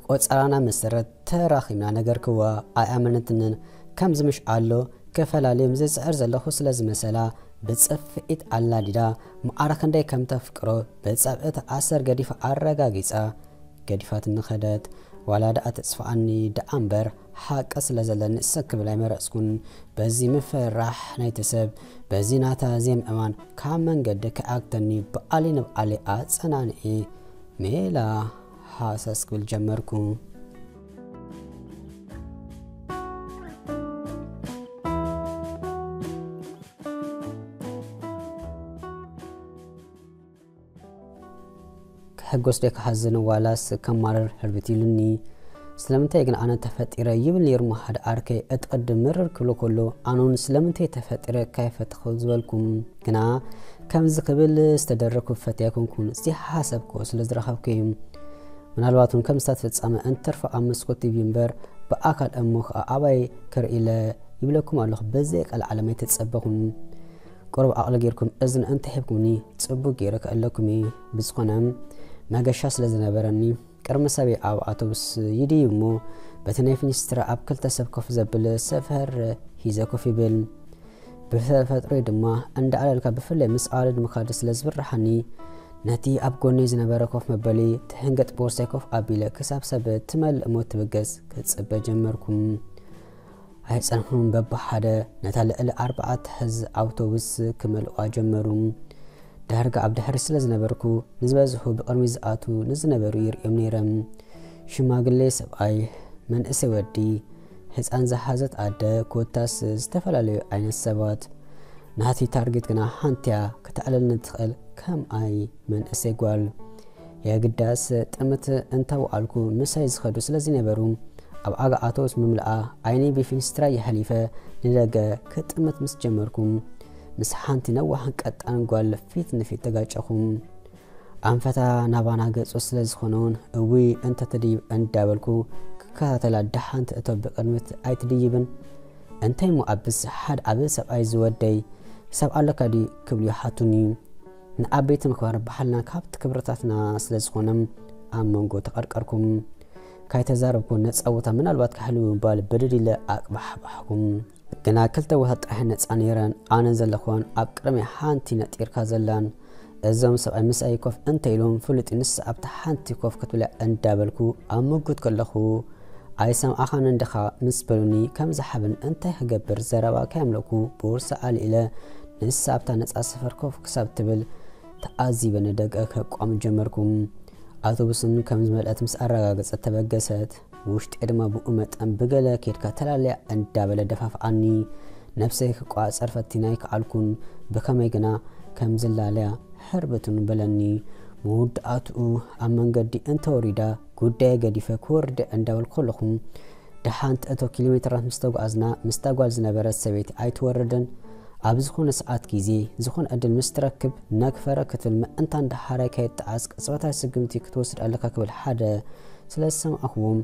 ቆጸራና መሰረት ተራኺብና ነገርክዋ። ኣይኣመነትንን። ከምዚ ምሽ ኣሎ ክፈላልዮም ዝጽዕር ዘለኹ ስለ ዝመሰላ ብጽፍዒት ኣላዲዳ ማዕረ ክንደይ ከም ተፍቅሮ ብጸብዒ ተኣሰር ገዲፋ ኣረጋጊጻ ገዲፋትኒ ከደት። ዋላ ደኣ ተጽፍዓኒ ደኣ እምበር ሓቂ ስለ ዘለኒ እሰ ክብል ኣይመረጽኩን። በዚ ምፍርራሕ ናይቲ ሰብ በዚ ናታ ዘይምእማን ካብ መንገዲ ከይኣግተኒ ብዓሊ ንብዓሊ ኣጸናንዒ ሜላ ሃሰስ ክብል ጀመርኩ። ክሕጎስ ዶ ክሓዝን ዋላስ ከማርር ህርብት ኢሉኒ። ስለምንታይ ግን ኣነ ተፈጢረ ይብል ነይሩ ሓደ ዓርከይ። እቲ ቅድም ምርር ክብሎ ከሎ ኣነ እውን ስለምንታይ ተፈጢረ ካይፈተኹ ዝበልኩም። ግና ከምዚ ክብል ዝተደረግኩ ፈትያ ኣይኮንኩን፣ ዘይሓሰብክዎ ስለ ዝረኸብኩ እዩ። ምናልባት እውን ከም ስታት ፍጻመ እንትርፎ ኣብ መስኮት ቲቪ እምበር ብኣካል እሞ ከዓ ኣባይ ክርኢ ኢለ ይብለኩም ኣለኹ። በዘይ ቃል ዓለም ኣይተጸበኹን። ቁሩብ ዓቕሊ ጌርኩም እዝኒ እንተሂብኩምኒ ጽቡቕ ጌረ ክእለኩም እየ። ብዝኾነ መገሻ ስለ ዝነበረኒ ቅድሚ ሰበይ ኣብ ኣውቶቡስ ይድይብ እሞ በቲ ናይ ፊኒስትራ ኣብ ክልተ ሰብ ኮፍ ዘብል ሰፈር ሂዘ ኮፍ ይብል። ብተፈጥሮይ ድማ እንዳዕለልካ ብፍላይ ምስ ኣዋልድ ምኻድ ስለ ዝብርሃኒ ነቲ ኣብ ጎነይ ዝነበረ ኮፍ መበሊ ትሕንገጥ ቦርሳይ ኮፍ ኣቢለ ክሳብ ሰብ ትመልእ እሞ ትብገስ ክጽበ ጀመርኩ። ኣይጸንሑን በብሓደ ነታ ልዕሊ ኣርባዕተ ሕዚ ኣውቶቡስ ክመልእዋ ጀመሩ። ዳርጋ ኣብ ድሕሪ ስለ ዝነበርኩ ንዝበዝሑ ብቕድሚ ዝኣቱ ንዝነበሩ ይርእዮም ነይረ። ሽማግሌ ሰብኣይ፣ መንእሰይ ወዲ፣ ህፃን ዝሓዘት ኣደ ኮታስ ዝተፈላለዩ ዓይነት ሰባት። ናቲ ታርጌት ግና ሓንቲያ ክተዕለልኒ ትኽእል ከምኣይ መንእሰይ ጓል። የግዳስ ጥምት እንተወዓልኩ ምሳይ ዝኸዱ ስለ ዝነበሩ ኣብ ኣጋ ኣውቶቡስ ምምልኣ ዓይነይ ብፊንስትራ የሕሊፈ ንደገ ክጥምት ምስ ጀመርኩ ምስ ሓንቲ ነዋሕን ቀጣን ጓል ፊት ንፊት ተጋጨኹ። ኣንፈታ ናባና ገጹ ስለ ዝኾነውን እውይ እንተ ትድይብ እንዳበልኩ ክከታተላ ደሓን ትእቶ ብቕድሚት ኣይትድይብን? እንታይ እሞ ኣብስ ሓደ ዓቢ ሰብኣይ ዝወደይ ሰብ ኣለካ ድዩ ክብሉ ይሓቱኒ። ንዓበይቲ ምኽባር ባህልና ካብቲ ክብርታትና ስለ ዝኾነ ኣብ መንጎ ተቐርቀርኩም። ካይተዛረብኩ ነጻ ቦታ ምናልባት ክሕልው ምባል ብድድ ኢለ ኣቅባሕባሕኩም። ግና ክልተ ቦታ ጥራሕ ነጻ ነይረን። ኣነ ዘለኹዋን ኣብ ቅድሚ ሓንቲ ነጢርካ ዘላን እዞም ሰብኣይ ምስኣይ ኮፍ እንተ ኢሎም ፍሉጥ ንስ ኣብታ ሓንቲ ኮፍ ክትብላ እንዳበልኩ ኣብ ምጉት ከለኹ ኣይሰምዓኻን እንዲኻ ምስ በሉኒ ከም ዝሓብን እንታይ ክገብር ዘረባ ከየምለኩ ቦርሳ ኣልኢለ ንሳ ኣብታ ነጻ ሰፈር ኮፍ ክሳብ ትብል ተኣዚበ ንደገ ከቋም ጀመርኩ። ኣውቶቡስን ከም ዝመልአት ምስ ኣረጋገጸት ተበገሰት። ውሽጢ ድማ ብኡ መጠን ብገለ ኬድካ ተላለያ እንዳበለ ደፋፍኣኒ። ነብሰይ ክቋጸር ፈቲነ ኣይከኣልኩን። ብኸመይ ግና ከም ዝላለያ ሕርብትን በለኒ። መወዳእትኡ ኣብ መንገዲ እንተወሪዳ ጉዳየ ገዲፈ ክወርድ እንዳበልኩ ከለኹ ደሓን ትእቶ ኪሎ ሜትራት ምስ ተጓዝና ምስታ ጓል ዝነበረት ሰበይቲ ኣይትወርድን። ኣብ ዝኾነ ሰዓት ግዜ ዝኾነ ዕድል ምስ ትረክብ ነክፈረ ክትብል ምእንታን ደሓራይ ከየጠዓስ ቅጽበታዊ ስጉምቲ ክትወስድ ኣለካ ክብል ሓደ ስለ ዝሰማዕኹዎም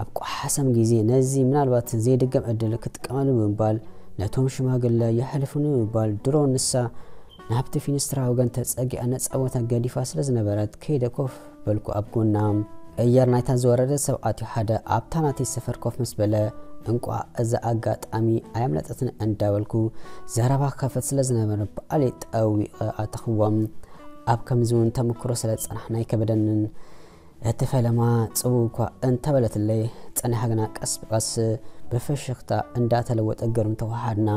ኣብ ቋሓሰም ግዜ ነዚ ምናልባት ዘይድገም ዕድል ክጥቀመሉ ብምባል ነቶም ሽማግለ የሕልፉኒ ብምባል ድሮ ንሳ ናብቲ ፊንስትራ ወገን ተጸጊዓ ነጻ ቦታ ገዲፋ ስለ ዝነበረት ከይደ ኮፍ በልኩ ኣብ ጎና። ኣየር ናይታ ዝወረደ ሰብ ኣትዩ ሓደ ኣብታ ናተይ ሰፈር ኮፍ ምስ በለ እንቋዕ እዛ ኣጋጣሚ ኣየምለጠትን እንዳበልኩ ዘረባ ክኸፍት ስለ ዝነበረ ብኣለይ ጠዊቐ ኣተኽዎም። ኣብ ከምዚ እውን ተመክሮ ስለ ዝጸናሕና ኣይከበደንን። እቲ ፈለማ ጽውው እኳ እንተበለትለይ፣ ጸኒሓ ግና ቀስ ብቐስ ብፍሽኽታ እንዳተለወጠ ገርም ተወሃሃድና።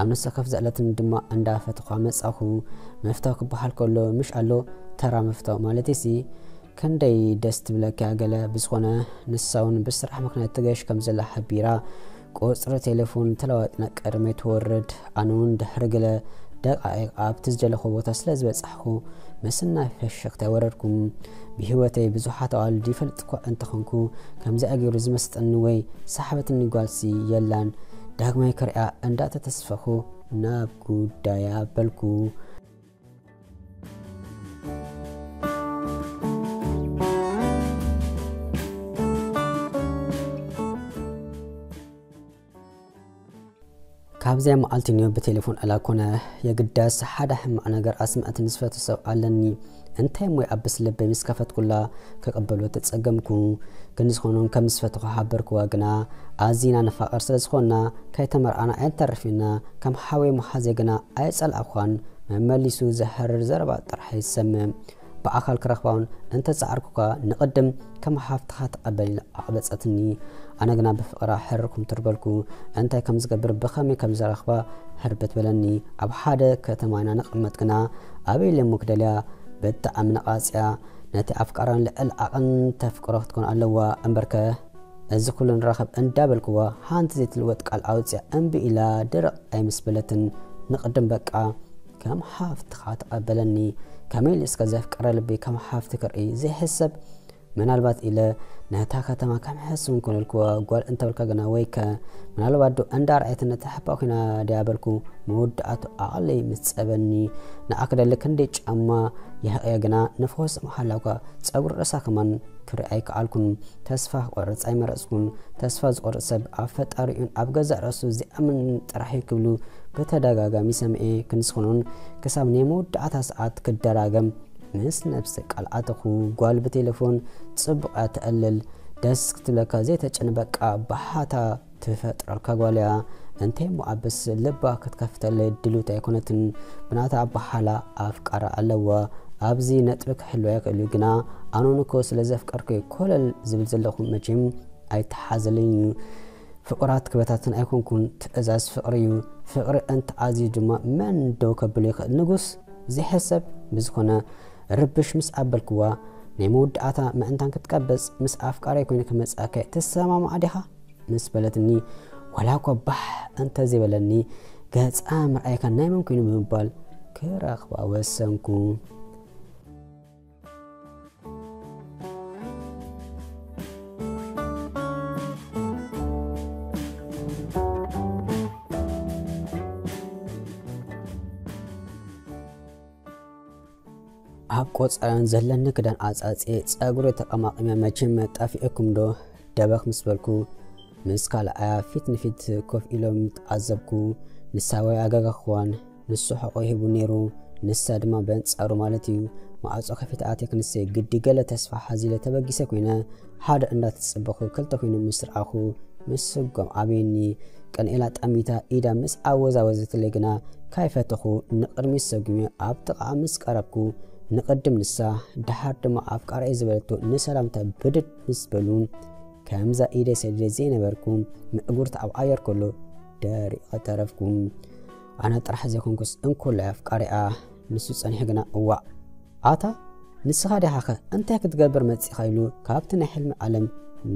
ኣብ ንሳ ከፍ ዘዕለትኒ ድማ እንዳፈተኹዋ መጻኹ። ምፍታው ክበሃል ከሎ ምሽ ኣሎ ተራ ምፍታው ማለትሲ ክንደይ ደስ ትብለካ ገለ። ብዝኾነ ንሳ እውን ብስራሕ ምኽንያት ትገሽ ከም ዘላ ሓቢራ ቁጽሪ ቴሌፎን ተለዋጢና ቅድመይ ትወርድ። ኣነ እውን ድሕሪ ገለ ደቃይቕ ኣብቲ ዝደለኹ ቦታ ስለ ዝበጻሕኩ ምስናይ ፈሽኽታ ወረድኩ። ብህይወተይ ብዙሓት ኣዋልድ ይፈልጥ እኳ እንተኾንኩ ከምዚኣ ገይሩ ዝመስጠኒ ወይ ሰሓበትኒ ጓልሲ የላን። ዳግማይ ክሪኣ እንዳተተስፈኹ ናብ ጉዳያ በልኩ። ካብዚኣ መዓልቲ ንዮ ብቴሌፎን ዕላ ኮነ። የግዳስ ሓደ ሕማቕ ነገር ኣስምዐትኒ ዝፈቱ ሰብ ኣለኒ። እንታይ እሞ ይኣብስ ልበይ ምስ ከፈትኩላ ክቕበሎ ተጸገምኩ። ክንዲ ዝኾኑን ከም ዝፈትኹ ሓበርክዋ፣ ግና ኣዚና ንፋቐር ስለ ዝኾንና ከይተመርዓና ኣይንተርፍና። ከም ሓወይ መሓዘይ ግና ኣይጸላእኳን። መመሊሱ ዘህርር ዘረባ ጥራሕ ይሰምዕ። ብኣካል ክረኽባውን እንተጸዓርኩካ ንቕድም ከም ሓፍትኻ ተቐበል ኢላ ኣቕበጸትኒ። ኣነ ግና ብፍቕራ ሕርኩም ትርበልኩ። እንታይ ከም ዝገብር ብኸመይ ከም ዝረኽባ ሕርበት በለኒ። ኣብ ሓደ ከተማ ኢና ንቕመጥ ግና ኣበይ ለሞ ክደልያ ብጣዕሚ ነቓጽያ። ነቲ ኣፍቃራን ልዕል ዓቕን ተፍቅሮ ክትኮን ኣለዋ እምበርከ እዚ ኩሉ ንራኸብ እንዳበልክዋ ሓንቲ ዘይትልወጥ ቃል ኣውፅያ እምቢ ኢላ ድርቕ ኣይምስ በለትን። ንቕድም በቃ ከም ሓፍትኻ ተቐበለኒ። ከመይ ኢሉ እስከ ዘፍቀረ ልቢ ከም ሓፍቲ ክርኢ ዘይሕሰብ። ምናልባት ኢለ ነታ ከተማ ከም ሕስብ እንኮነልክዋ ጓል እንተበልካ ግና ወይከ ምናልባት ዶ እንዳ ረኣየት ነታ ሕባ ኮይና ድያ በልኩ። መወዳእቱ ኣቕለይ ምስ ጸበኒ ንኣክደሊ ክንደይ ጫማ ይሕቕየ ግና ንፈወስ መሓላኳ ጸጉሪ ርእሳ ከማን ክርኢ ኣይከኣልኩን። ተስፋ ክቆርጽ ኣይመረጽኩን። ተስፋ ዝቆርጽ ሰብ ኣብ ፈጣሪኡን ኣብ ገዛእ ርእሱ ዘይኣምን ጥራሕ እዩ ክብሉ ብተደጋጋሚ ሰምኤ። ክንስኹኑን ክሳብ ናይ መወዳእታ ሰዓት ክደራገም ምስ ነብሲ ቃል ኣተኹ። ጓል ብቴሌፎን ጽቡቕ እያ ተዕልል። ደስ ክትብለካ ዘይተጨንበቃ ባሓታ ትፈጥረልካ ጓል እያ። እንተ እሞ ኣብስ ልባ ክትከፍተለይ ድልውቲ ኣይኮነትን። ብናታ ኣባሓላ ኣፍቃራ ኣለዋ። ኣብዚ ነጥቢ ክሕልዋ ይኽእል እዩ፣ ግና ኣነ ንኮ ስለ ዘፍቀርኩ ኮለል ዝብል ዘለኹ መቼም ኣይተሓዘለይን እዩ። ፍቕራት ክበታትን ኣይኮንኩን፣ ትእዛዝ ፍቕሪ እዩ። ፍቕሪ እንተኣዝዩ ድማ መን ደው ከብሎ ይኽእል? ንጉስ ዘይሕሰብ ብዝኾነ ርብሽ ምስ ኣበልክዋ ናይ መወዳእታ ምእንታን ክትቀበጽ ምስ ኣፍቃሪ ኮይነ ክመጽኣካ ትሰማማዕ ዲኻ? ምስ በለትኒ፣ ዋላ እኳ ባሕ እንተ ዘይበለኒ፣ ገጻ ምርኣይካ ናይ መን ኮይኑ ብምባል ክረኽባ ወሰንኩ። ኣብ ቆጸራን ዘለኒ ክዳን ኣጻጽየ ጸጉሪ ተቐማቒመ፣ መቸም ጠፊእኩም ዶ ደበኽ ምስ በልኩ፣ ምስ ካልኣያ ፊት ንፊት ኮፍ ኢሎም ተዓዘብኩ። ንሳ ወይ ኣጋጋኽዋን ንሱ ሕቖ ሂቡ ነይሩ፣ ንሳ ድማ በንጻሩ ማለት እዩ። ማዕጾ ከፊተ ኣትየ ክንሰ ግዲ ገለ ተስፋ ሓዚለ ተበጊሰ ኮይነ፣ ሓደ እንዳተጸበኹ ክልተ ኮይኑ ምስ ረኣኹ ምስጓም ኣብየኒ። ቀንኤላ ጠሚታ ኢዳ ምስ ኣወዛወዘትለይ ግና ካይፈተኹ ንቕድሚት ሰጒመ ኣብ ጥቓኣ ምስ ቀረብኩ፣ ንቕድም ንሳ፣ ደሓር ድማ ኣፍቃርየ ዝበለቶ ንሰላምታ ብድድ ምስ በሉ፣ ከምዛ ኢደይ ሰዲደ ዘይነበርኩ ምእጉርታ ኣብ ኣየር ከሎ ደሪቐ ተረፍኩ። ኣነ ጥራሕ ዘይኮንኩስ እንኮላይ ኣፍቃሪኣ ንሱ ጸኒሑ ግና፣ እዋእ፣ ኣታ ንስኻ ዲኻኸ እንታይ ክትገብር መጺኻ? ኢሉ ካብቲ ናይ ሕልሚ ዓለም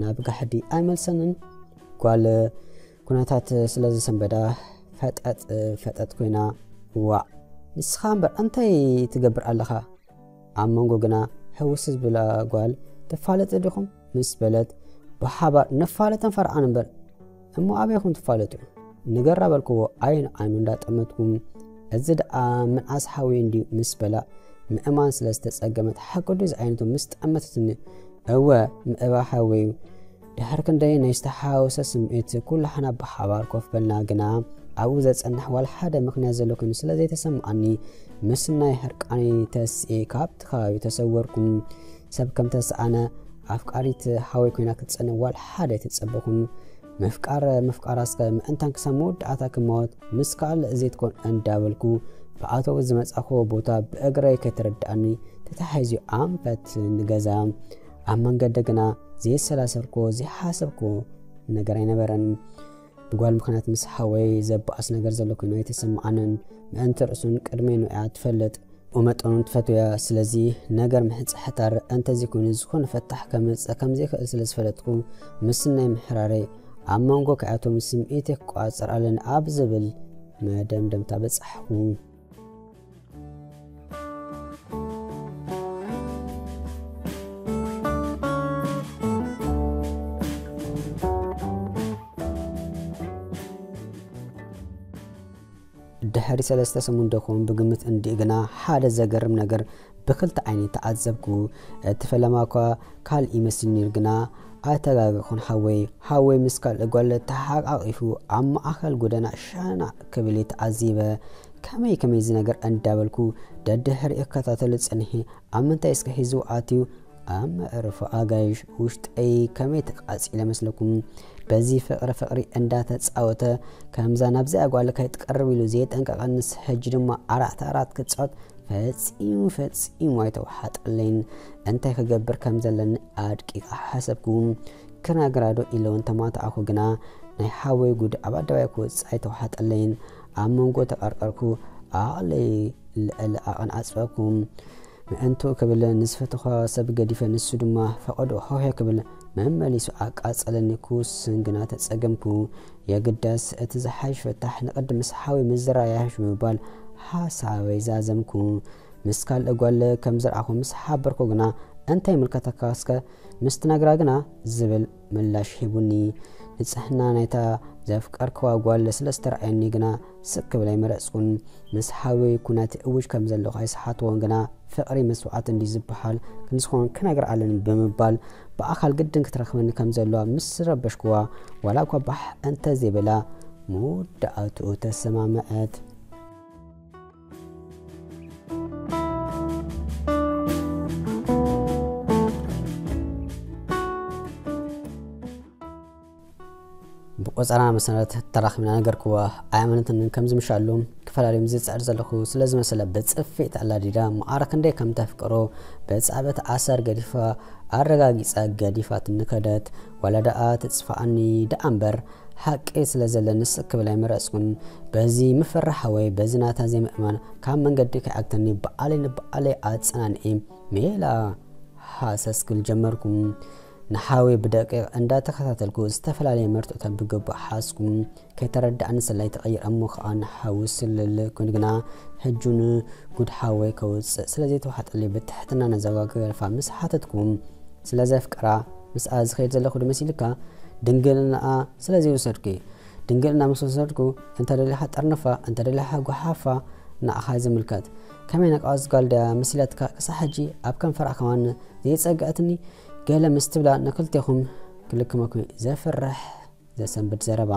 ናብ ጋሕዲ ኣይመልሰንን። ጓል ኩነታት ስለ ዝሰንበዳ ፈጠጥ ፈጠጥ ኮይና፣ እዋእ፣ ንስኻ እምበር እንታይ ትገብር ኣለኻ? ኣብ መንጎ ግና ሕውስ ዝብላ ጓል፣ "ትፋለጡ ዲኹም?" ምስ በለት፣ "ብሓባር ንፋለጥን ፈርዓን እምበር፣ እሞ ኣበይኹም ትፋለጡ? ንገራ" በልክዎ፣ ዓይኑ ዓይኑ እንዳጠመትኩ። እዚ ደኣ ምንኣስ ሓወይ እንድዩ ምስ በላ፣ ምእማን ስለ ዝተጸገመት፣ "ሓቂ ድዩ ዝዓይነቱ?" ምስ ጠመተትኒ፣ "እወ፣ ምእባ ሓወይ እዩ።" ድሕሪ ክንደይ ናይ ዝተሓዋወሰ ስምዒት፣ ኩላሕና ብሓባር ኮፍ በልና፣ ግና ኣብኡ ዘጸንሕ ዋላ ሓደ ምኽንያት ዘሎ ኮይኑ ስለ ዘይተሰምዓኒ፣ ምስናይ ሕርቃነይ ተሲኤ ካብቲ ከባቢ ተሰወርኩ። ሰብ ከም ተሰኣነ፣ ኣፍቃሪት ሓወይ ኮይና ክትጸንሕ ዋላ ሓደ ኣይተጸበኹን። ምፍቃር ምፍቃር ኣስከ ምእንታን ክሳብ መወዳእታ ክመወት ምስ ካልእ ዘይትኮን እንዳበልኩ፣ ብኣተው ዝመጻኹዎ ቦታ ብእግረይ ከይተረድኣኒ ተታሒዙ ኣንፈት ንገዛ። ኣብ መንገዲ ግና ዘየሰላሰልኩዎ፣ ዘይሓሰብኩዎ ነገር ኣይነበረን። ብጓል ምኽንያት ምስ ሓወይ ዘበኣስ ነገር ዘሎ ኮይኑ ኣይተሰምዓንን። ምእንቲ ርእሱን ቅድመይ ንያ ትፈልጥ፣ ብመጠኑ ትፈትውያ። ስለዚ ነገር ምሕጽሕታር እንተዘይኮይኑ፣ ዝኾነ ፈታሕ ከምጽእ ከም ዘይክእል ስለ ዝፈለጥኩ፣ ምስናይ ምሕራረይ ኣብ መንጎ ክኣቶም ስምዒተይ ክቆጻጸር ኣለኒ ኣብ ዝብል መደምደምታ በጻሕኩ። ድሕሪ ሰለስተ ሰሙን ደኹም ብግምት እንዲኡ ግና ሓደ ዘገርም ነገር ብክልተ ዓይኒ ተዓዘብኩ። እቲ ፈለማ እኳ ካልእ ይመስል ነይሩ፣ ግና ኣይተጋገኹን ሓወይ። ሓወይ ምስ ካልእ ጓል ተሓቃቒፉ ኣብ ማእከል ጎደና ሸናዕ ክብል ተዓዚበ። ከመይ ከመይ እዚ ነገር እንዳበልኩ ደድሕሪኡ ክከታተሎ ጸኒሐ። ኣብ ምንታይ እስከ ሒዝዎ ኣትዩ? ኣብ መዕርፎ ኣጋይሽ። ውሽጠይ ከመይ ተቃጺለ መስለኩም? በዚ ፍቕሪ ፍቕሪ እንዳተጻወተ ከምዛ ናብዚኣ ጓል ከይትቀርብ ኢሉ ዘየጠንቀቐንስ፣ ሕጂ ድማ ኣራት ኣራት ክጻወት ፈጺሙ ፈጺሙ ኣይተዋሓጠለይን። እንታይ ክገብር ከም ዘለኒ ኣድቂቐ ሓሰብኩ። ክነግራ ዶ ኢለ እውን ተማታዕኩ፣ ግና ናይ ሓወይ ጉድ ኣብ ኣደባባይ ክወጽእ ኣይተዋሓጠለይን። ኣብ መንጎ ተቐርቀርኩ፣ ዓቕለይ ልዕሊ ዓቐን ኣጽበብኩ። ምእንትኡ ክብል ንዝፈተኹ ሰብ ገዲፈ፣ ንሱ ድማ ፈቐዶ ሆሄ ክብል መመሊሱ ኣቃጸለኒ። ክውስን ግና ተጸገምኩ። የግዳስ እቲ ዝሓይሽ ፍታሕ ንቕድሚ ምስ ሓወይ ምዝርራብ ይሓይሽ ብምባል ሓሳበይ ዛዘምኩ። ምስ ካልእ ጓል ከም ዝረኣኹ ምስ ሓበርኩ ግና፣ "እንታይ ይምልከተካ እስከ?" ምስ ትነግራ ግና ዝብል ምላሽ ሂቡኒ። ንጽህና ናይታ ዘፍቀርክዋ ጓል ስለ ዝተረኣየኒ ግና ስቅ ክብል ኣይመረጽኩን። ምስ ሓወይ ኩነተይ እውጅ ከም ዘለኹ ኣይሰሓትዎን፣ ግና ፍቕሪ መስዋዕቲ እንዲ ዝበሃል ክንዝኾን ክነግር ኣለኒ ብምባል ብኣካል ግድን ክትረኽበኒ ከም ዘለዋ ምስ ረበሽክዋ፣ ዋላ እኳ ባሕ እንተ ዘይበላ፣ መወዳእትኡ ተሰማምዐት። ብቆጸራ መሰረት ተራኺብና ነገርክዋ። ኣየኣመነትን። ከም ዝምሻሉ ክፈላለዮም ዝጽዕር ዘለኹ ስለ ዝመሰለ ብጽፊት ኣላዲዳ መዓረ ክንደይ ከም ተፍቅሮ ብጻዕበት ኣሰር ገዲፋ ኣረጋጊጻ ገዲፋትኒ ከደት። ዋላ ደኣ ትጽፋኣኒ ደኣ እምበር ሓቂ ስለ ዘለኒ ስቅ ክብል ኣይመረጽኩን። በዚ ምፍርራሕ ወይ በዚ ናታ ዘይምእማን ካብ መንገዲ ከይዓግተኒ በዓለይ ንበዓለይ ኣጸናንዒ ሜላ ሃሰስ ክብል ጀመርኩ። ንሓወይ ብደቂቕ እንዳተኸታተልኩ ዝተፈላለየ መርትዖታት ብግቡእ ሓዝኩ። ከይተረድኣኒ ሰላይ ተቐይረ እሞ ኸኣ ንሓዊ ስልል ኮይኑ ግና ሕጂ እውን ጉድ ሓወይ ከውጽእ ስለ ዘይተዋሓጠለይ ብትሕትና ነዛ ጓል ክገድፋ ምስ ሓተትኩ፣ ስለ ዘፍቅራ ምስኣ ዝኸይድ ዘለኹ ዶ መሲልካ? ድንግልናኣ ስለ ዘይወሰድኩ እዩ። ድንግልና ምስ ወሰድኩ እንተ ደሊኻ ጠርንፋ፣ እንተ ደሊኻ ጓሓፋ ንዓኻ ዝምልከት። ከመይ ነቃወት ጓል ድያ መሲላትካ? ክሳዕ ሕጂ ኣብ ከንፈራ ከማን ዘይጸግዐትኒ ገለ ምስ ትብላ ንክልቴኹም ክልክመኩም እዩ። ዘፍርሕ ዘሰንብድ ዘረባ።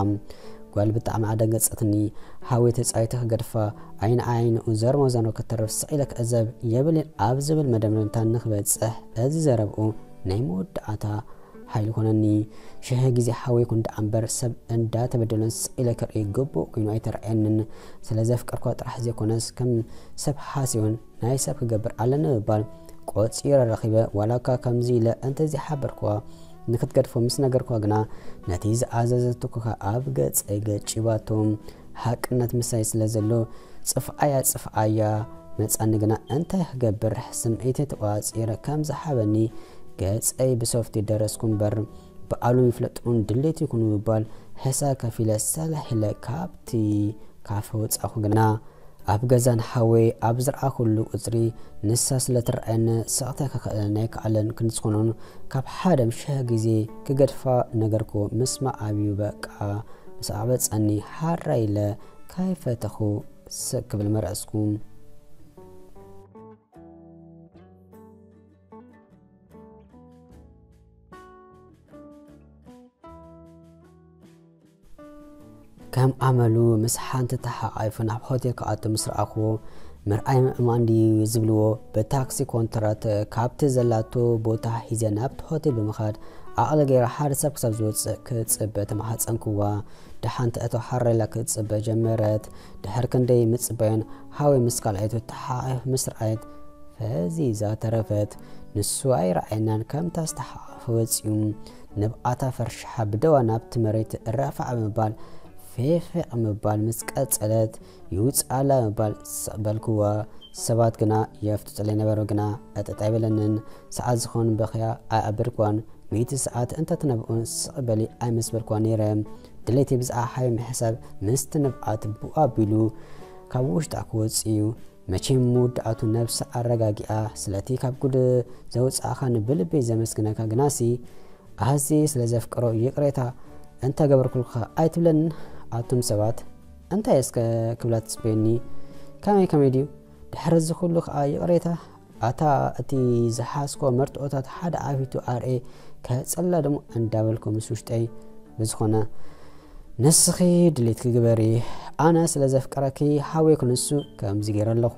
ጓል ብጣዕሚ ኣደንገጸትኒ። ሓወይ ተጻዊተ ክገድፋ፣ ዓይኒ ዓይንኡ ዘርሞ ዘርሞ ከተርፍ ስቕ ኢለ ክዕዘብ የብልን ኣብ ዝብል መደምደምታ ንክበጽሕ እዚ ዘረብኡ ናይ መወዳእታ ሓይሊ ኮነኒ። ሽሕ ግዜ ሓወይ ኩን ደኣ እምበር ሰብ እንዳተበደለን ስቕ ኢለ ክርኢ ግቡእ ኮይኑ ኣይተረኣየንን። ስለ ዘፍቀርኳ ጥራሕ ዘይኮነስ ከም ሰብ ሓሲዮን ናይ ሰብ ክገብር ኣለኒ ብምባል ቆጺረ ረኺበ። ዋላ እኳ ከምዚ ኢለ እንተዘይሓበርክዋ ንክትገድፎ ምስ ነገርክዋ ግና ነቲ ዝኣዘዘቶ ኮካ ኣብ ገጸይ ገጪባቶ። ሓቅነት ምሳይ ስለ ዘሎ ጽፍዓያ ጽፍዓያ መጻኒ ግና እንታይ ክገብር ስምዒተይ ተቆጻጺረ ከም ዝሓበኒ ገጸይ ብሶፍቲ ደረስኩ እምበር ብኣሎም ይፍለጡን ድሌት ይኹን ብምባል ሕሳብ ከፊለ ሰላሕ ኢለ ካብቲ ካፈ ወጻኹ ግና ኣብ ገዛ ንሓወይ ኣብ ዝረኣኹሉ ቁጽሪ ንሳ ስለ ትረኣየኒ ስቕታ ከኽእለኒ ኣይከኣለን። ክንዝኾኖን ካብ ሓደ ም ሽሕ ግዜ ክገድፋ ነገርኩ። ምስማዕ ኣብዩ በቃ ምስ ኣዕበጸኒ ሓራ ኢለ ካይፈተኹ ስቕ ክብል መረጽኩ። ከም ኣመሉ ምስ ሓንቲ ተሓቋይፉ ናብ ሆቴል ክኣቱ ምስ ረኣኹዎ፣ ምርኣይ ምእማን ድዩ ዝብልዎ፣ ብታክሲ ኮንትራት ካብቲ ዘላቶ ቦታ ሒዘ ናብቲ ሆቴል ብምኻድ ዓቕሊ ገይረ ሓደ ሰብ ክሳብ ዝወጽእ ክጽበ ተማሓጸንክዋ። ደሓን ትእቶ ሓራ ኢላ ክትጽበ ጀመረት። ድሕሪ ክንደይ ምጽባይን ሓወይ ምስ ካልኣይቱ ተሓቋይፉ ምስ ረኣየት ፈዚዛ ተረፈት። ንሱ ኣይረኣየናን ከምታ ዝተሓቋፈ ወጺኡ። ንብኣታ ፈርሽሓ ብደዋ ናብቲ መሬት ረፋዕ ብምባል ፌፌቕ ምባል ምስ ቀጸለት፣ ይውጽኣላ ምባል ስቕ በልክዋ። ሰባት ግና የፍጥጡለይ ነበሩ፣ ግና ዕጥጥ ኣይበለንን። ሰዓት ዝኾን በኽያ ኣይኣበድክዋን። ሚእቲ ሰዓት እንተትነብኡን ስቕ በሊ ኣይምስ በልክዋን ነይረ። ድሌተይ ብዛዕባ ሓወይ ምሕሳብ ምስቲ ንብኣት ብኡ ኣቢሉ ካብ ውሽጣ ክወጽእ እዩ። መቸም መወዳእቱ ነብሳ ኣረጋጊኣ፣ ስለቲ ካብ ጉድ ዘውጻእኻኒ ብልበይ ዘመስግነካ፣ ግናሲ ኣዝየ ስለ ዘፍቅሮ ይቕሬታ እንተገበርኩልካ ኣይትብለንን? ኣቱም ሰባት እንታይ እስከ ክብላ ትጽበዩኒ? ከመይ ከመይ ድዩ? ድሕሪ እዚ ኩሉ ከኣ ይቕሬታ? ኣታ እቲ ዝሓዝኮ መርትዖታት ሓደ ዓቢቱ ኣርኤ ከጸላ ደሞ እንዳበልኩ ምስ ውሽጠይ ብዝኾነ ንስኺ ድሌትኪ ግበሪ፣ ኣነ ስለ ዘፍቀረኪ ሃወይ ክንሱ ከምዚ ገይረ ኣለኹ።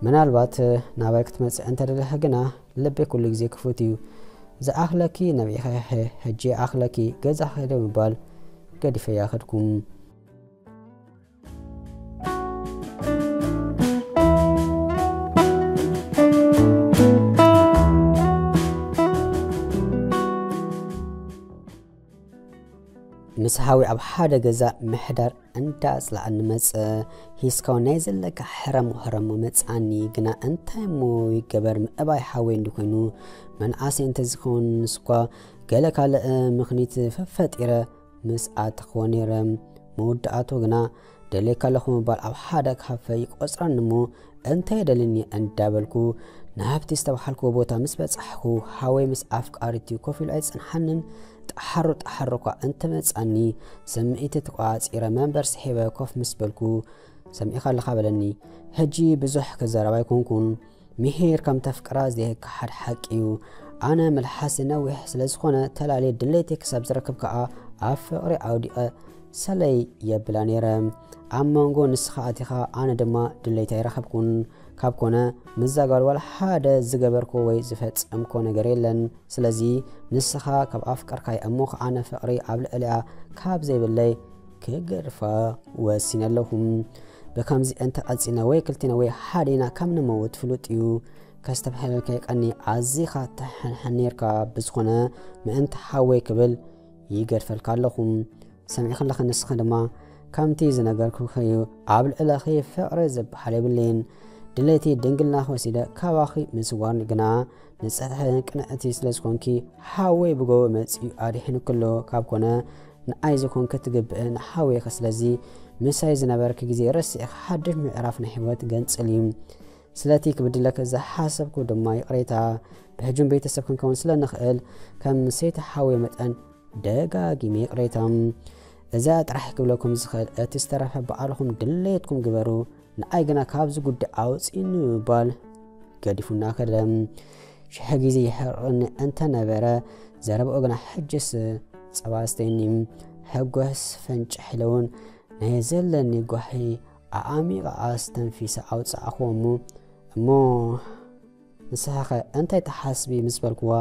ምናልባት ናባይ ክትመጽእ እንተደለኺ ግና ልበይ ኩሉ ግዜ ክፉት እዩ። ዝኣኽለኪ ነቢዕኺ ሕጂ ይኣኽለኪ፣ ገዛ ኸደ ምባል ገዲፈያ ከድኩም። ምስ ሃዊ ኣብ ሓደ ገዛ ምሕዳር እንዳ ኣጽላኣ ንመጸ። ሂስካው ናይ ዘለካ ሕረሞ ሕረሞ መጻኒ፣ ግና እንታይ እሞ ይገበር፣ ምእባይ ሓወይ እንዲ ኮይኑ መንኣሰይ እንተዝኸውን ንስኳ ገለ ካልእ ምኽኒት ፈፈጢረ ምስ ኣተኽዎ ነይረ። መወዳእቱ ግና ደልየካ ኣለኹ ምባል ኣብ ሓደ ካፈ ይቆጽረኒ እሞ እንታይ የደልኒ እንዳበልኩ ናብቲ ዝተባሃልኩዎ ቦታ ምስ በጻሕኩ፣ ሃወይ ምስ ኣፍቃሪቱ ኮፍ ኢሉ ኣይጸንሓንን። ጣሓሩ ጣሓሩ እኳ እንተመጻኒ፣ ስምዒት ተቋጺረ መንበር ስሒበ ኮፍ ምስ በልኩ፣ "ሰሚዕካ ኣለኻ?" በለኒ። ሕጂ ብዙሕ ክዛረብ ኣይኮንኩን። ምሂር ከም ተፍቅራ ዘይከሓድ ሓቂ እዩ። ኣነ መልሓስ ነዊሕ ስለ ዝኾነ፣ ተላልየ ድሌተይ ክሳብ ዝረክብ ከኣ ኣብ ፍቕሪ ኣውዲቐ ሰለይ የብላ ነይረ። ኣብ መንጎ ንስኻ ኣቲኻ፣ ኣነ ድማ ድሌተይ ኣይረኸብኩን። ካብ ኮነ፣ ምዛ ጓል ዋላ ሓደ ዝገበርኮ ወይ ዝፈጸምኮ ነገር የለን። ስለዚ ንስኻ ካብ ኣፍቀርካይ እሞ ከኣ ኣነ ፍቕሪ ኣብ ልዕሊኣ ካብ ዘይብለይ ክገድፋ ወሲነ ኣለኹ። ብከምዚ እንተ ቀጺልና ወይ ክልቴና ወይ ሓዴና ከም ንመውት ፍሉጥ እዩ። ከስተብህለልካ ይቀኒ፣ ኣዚኻ ትሕንሕን ኔርካ። ብዝኾነ ምእንቲ ሓወይ ክብል ይገድፈልካ ኣለኹ። ሰሚዕኺ ኣለኺ፣ ንስኺ ድማ ከምቲ ዝነገርኩኺ እዩ። ኣብ ልዕለኺ ፍቕሪ ዝበሃል የብለይን። ድሌቲ ድንግልናኺ ወሲደ ካባኺ ምስዋር ግና ንጽሕቲ ቅንዕቲ ስለ ዝኾንኪ፣ ሓወይ ብጎቦ መጺኡ ኣድሒኑኪ ኣሎ። ካብ ኮነ ንኣይ ዝኾንኪ ትግብእ ንሓወይኺ። ስለዚ ምሳይ ዝነበርኪ ግዜ ረሲዕኺ ሓድሽ ምዕራፍ ናይ ህይወት ገንጽሊ። ስለቲ ክብድለኪ ዝሓሰብኩ ድማ ይቕሬታ። ብሕጂ ቤተሰብ ክንከውን ስለ ንኽእል ከም ሰይቲ ሓወይ መጠን ደጋጊመ ይቕሬታ። እዛ ጥራሕ ክብለኩም ዝኽእል፣ እቲ ዝተረፈ ባዕልኹም ድሌትኩም ግበሩ፣ ንኣይ ግና ካብዚ ጉዳይ ኣውጽእኒ ምባል ገዲፉና ከደ። ሽሕ ግዜ ይሕርቕኒ እንተነበረ፣ ዘረባኡ ግና ሕጅስ ጸባ ኣስተይኒ። ሕጎስ ፈንጭሕ ኢለ እውን ናይ ዘለኒ ጓሂ ኣዓሚቐ ኣስተንፊሰ ኣውጻእኽዎ እሞ፣ "እሞ ንስኻኸ እንታይ ትሓስቢ?" ምስ በልክዋ፣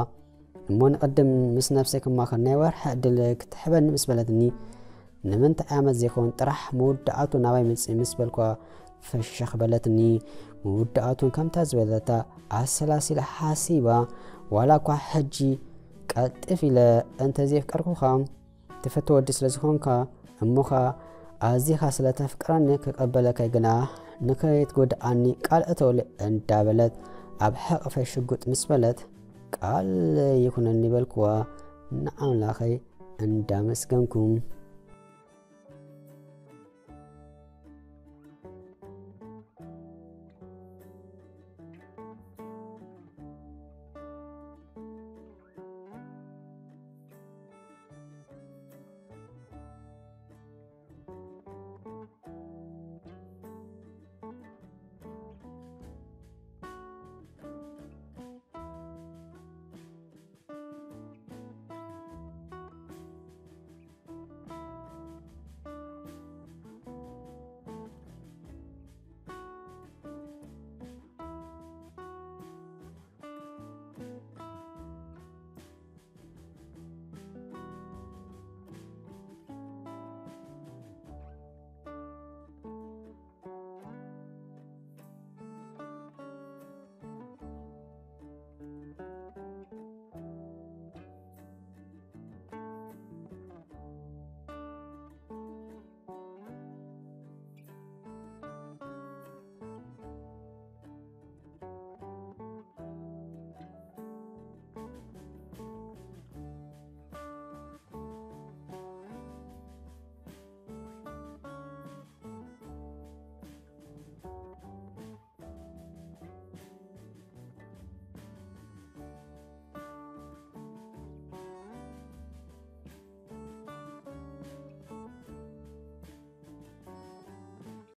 "እሞ ንቕድም ምስ ነብሰይ ክማኸር ናይ ወርሒ ዕድል ክትሕበኒ?" ምስ በለትኒ፣ "ንምንታይ ዓመት ዘይከውን ጥራሕ መወዳእቱ ናባይ ምጽእ?" ምስ በልኳ፣ ፈሸኽ በለትኒ። መወዳእቱን ከምታ ዝበለታ ኣሰላሲላ ሓሲባ፣ "ዋላ እኳ ሕጂ ቀልጥፍ ኢለ እንተ ዘየፍቀርኩኻ፣ ትፈቱ ወዲ ስለ ዝኾንካ፣ እሞ ኸኣ ኣዚኻ ስለ ተፍቅረኒ ክቐበለካ ግና ንኸይትጎድኣኒ ቃል እተወለይ" እንዳበለት ኣብ ሕቕፈይ ሽጉጥ ምስ በለት፣ "ቃል ይኹነኒ" በልክዋ ንኣምላኸይ እንዳመስገንኩ።